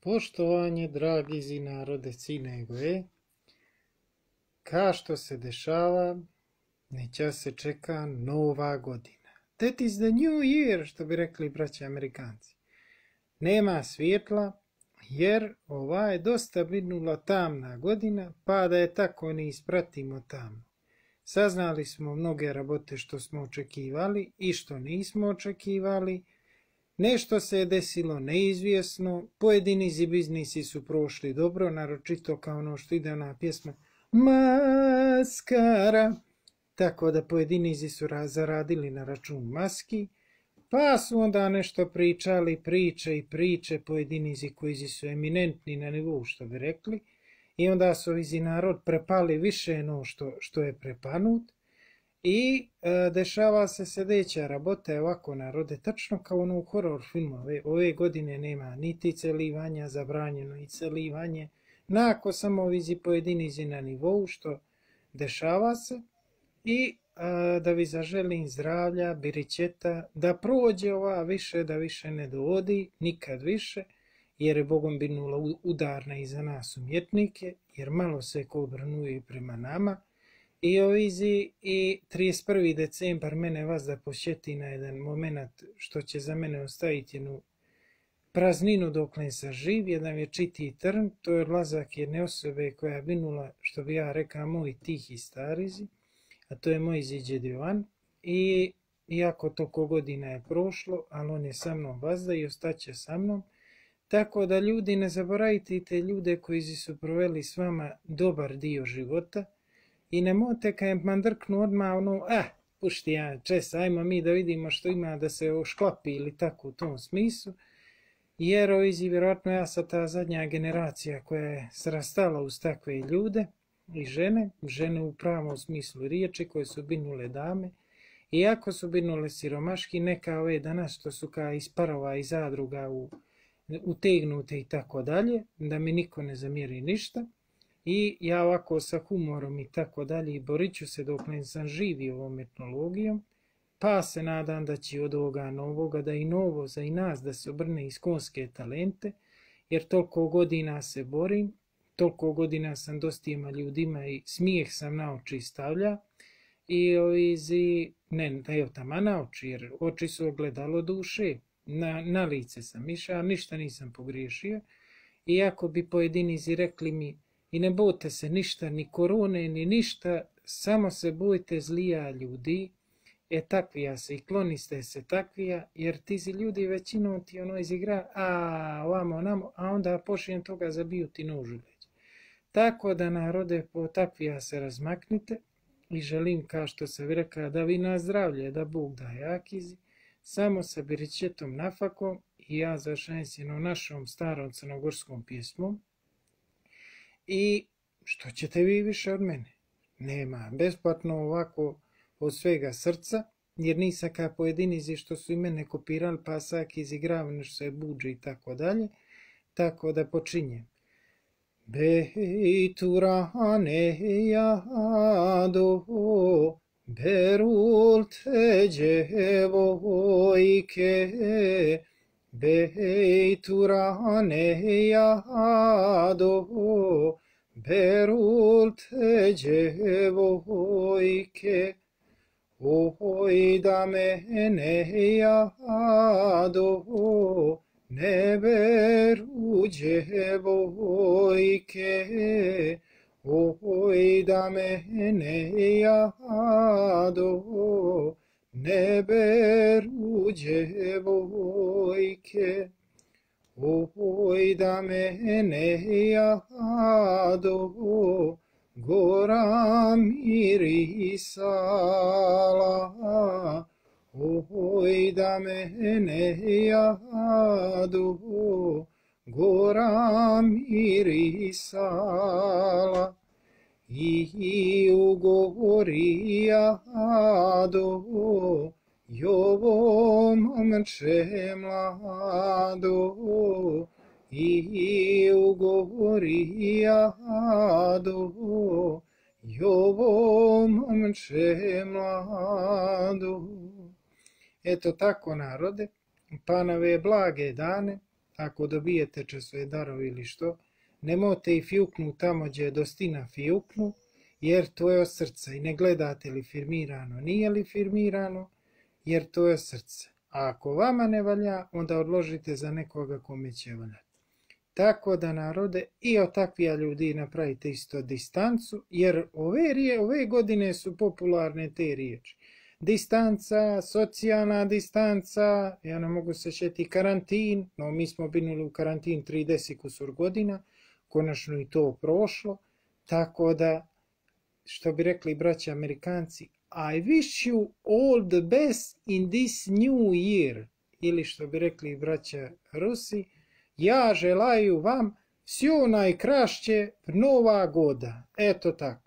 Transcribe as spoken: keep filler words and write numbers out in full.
Poštovanje, dragi zi narode Crne Gore, ka što se dešava, neće se čeka nova godina. That is the new year, što bi rekli braći Amerikanci. Nema svjetla, jer ova je dosta binula tamna godina, pa da je tako ne ispratimo tamo. Saznali smo mnoge rabote što smo očekivali i što nismo očekivali. Nešto se je desilo neizvjesno, pojedini biznisi su prošli dobro, naročito kao ono što ide ona pjesma Maskara, tako da pojedinici su zaradili na račun maski, pa su onda nešto pričali, priče i priče, pojedinici koji su eminentni na nivou, što bi rekli, i onda su izi narod prepali više no što, što je prepanut. I e, dešava se sljedeća rabota je ovako narode, tačno kao ono u horor filmu. Ove, ove godine nema niti celivanja, zabranjeno i celivanje, nako samo vizi pojedinici na nivou što dešava se. I e, da vi zaželim zdravlja, birićeta, da prođe ova više, da više ne dovodi, nikad više, jer je Bogom binula udarna i za nas umjetnike, jer malo se ko obrnuje prema nama. I ovizi i trideset prvi decembar mene vas da posjeti na jedan moment što će za mene ostaviti jednu prazninu dok ne sam živ, jedan vječiti trn, to je odlazak jedne osobe koja je binula, što bi ja rekao, moj tihi starizi, a to je moj ziđed Jovan. I iako toliko godina je prošlo, ali on je sa mnom vazda i ostaće sa mnom, tako da ljudi ne zaboravite te ljude koji su proveli s vama dobar dio života. I nemojte kad je mandrknu odmah ono, ah, pušti ja čes, ajmo mi da vidimo što ima da se ošklapi ili tako u tom smislu. Jer ovizi, vjerojatno ja sam ta zadnja generacija koja je srastala uz takve ljude i žene, žene u pravom smislu riječi koje su binule dame. Iako su binule siromaški, neka ove danas što su kao iz parova i zadruga u, utegnute i tako dalje, da mi niko ne zamjeri ništa. I ja ovako sa humorom i tako dalje borit ću se dok ne sam živi ovom etnologijom, pa se nadam da će od ovoga novoga, da i novo za i nas da se obrne iskonske talente, jer toliko godina se borim, toliko godina sam dostima ljudima i smijeh sam na oči stavlja i ovizi, ne da je tamo na oči, jer oči su ogledalo duše, na, na lice sam išao, ništa nisam pogriješio, iako bi pojedinici rekli mi i ne bojte se ništa, ni korone, ni ništa, samo se bojte zlija ljudi, e takvija se i kloniste se takvija, jer ti si ljudi većinom ti ono izigra, a ovamo namo, a onda pošlijem toga zabiju ti nožu leđa. Tako da narode po takvija se razmaknite i želim kao što se vi rekla da vi na zdravlje, da Bog da jakizi, samo sa birićetom nafakom i ja završajem s jednom našom starom crnogorskom pjesmom. I što ćete vi više od mene? Nema, besplatno ovako od svega srca, jer nisam kao pojedinici što su i mene kopirali, pa sak izigravano što se buđe i tako dalje, tako da počinjem. Bejturane jado, berul te djevojke, Bejturane jado, berul te djevojke, oj da mene jado, ne beru djevojke, oj da mene jado, ne beru djevojke, oj da mene jado, gora mirisala, oj da mene jado, gora mirisala. I u gori jado, jovo momče mlado, i u gori jado, jovo momče mlado. Eto tako narode, pa na ove blage dane, ako dobijete časove darove ili što, nemojte i fjuknu tamo gdje je dostina fjuknu, jer to je od srca. I ne gledate li firmirano, nije li firmirano, jer to je od srca. A ako vama ne valja, onda odložite za nekoga kome će valjati. Tako da, narode, i od takvija ljudi napravite isto distancu, jer ove, rije, ove godine su popularne te riječi. Distanca, socijalna distanca, ja ne mogu se šeti karantin, no mi smo binuli u karantin trideset kusur godina, konačno i to prošlo, tako da, što bi rekli braći Amerikanci, I wish you all the best in this new year, ili što bi rekli braća Rusi, ja želaju vam sve najkrašće Nova goda. Eto tako.